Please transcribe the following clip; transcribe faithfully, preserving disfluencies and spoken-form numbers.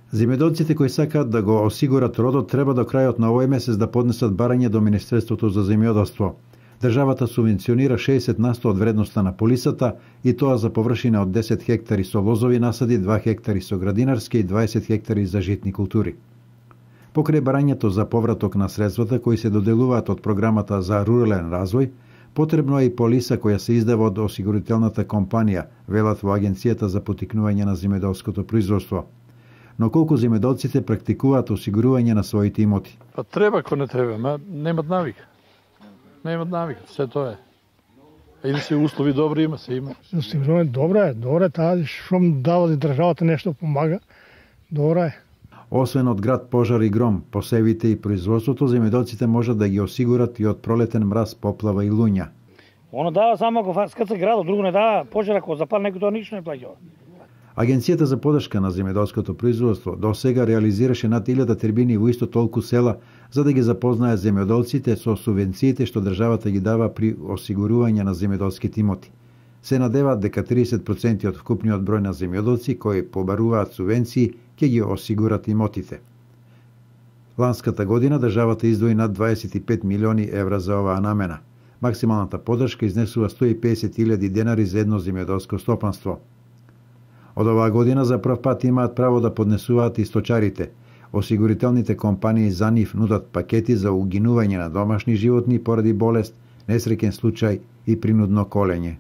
Земјоделците кои сакаат да го осигурат родот треба до крајот на овој месец да поднесат барање до Министерството за земјоделство. Државата субвенционира шеесет на сто од вредноста на полисата и тоа за површина од десет хектари со лозови насади, два хектари со градинарски и дваесет хектари за житни култури. Покрај барањето за повраток на средствата кои се доделуваат од програмата за рурален развој, потребно е и полиса која се издава од осигурителната компанија, велат во Агенцијата за поттикнување на земјоделското производство. Но колку земјоделците практикуваат осигурување на своите имоти? Па треба, ако не треба, ма немат навика. Немат навика, се тоа е. Или се услови добри има, се има. Осигурување добра е, добра е таа што дава државата нешто помага. Добра е. Освен од град пожар и гром, посевите и производството, земјоделците можат да ги осигурат и од пролетен мраз, поплава и луња. Оно дава само ако скрца градот, друго не дава пожар, ако запали некој тоа ништо не плаќа. Агенцијата за поддршка на земјоделското производство до сега реализираше над илјада тербини во исто толку села за да ги запознае земјоделците со субвенциите што државата ги дава при осигурување на земјоделските имоти. Се надеваат дека триесет проценти од вкупниот број на земјоделци кои побаруваат субвенции ќе ги осигурат имотите. Ланската година државата издвои над дваесет и пет милиони евра за оваа намена. Максималната поддршка изнесува сто и песет илјади денари за едно земјоделско стопанство. Од оваа година за прв пат имаат право да поднесуваат и сточарите. Осигурителните компании за нив нудат пакети за угинување на домашни животни поради болест, несреќен случај и принудно колење.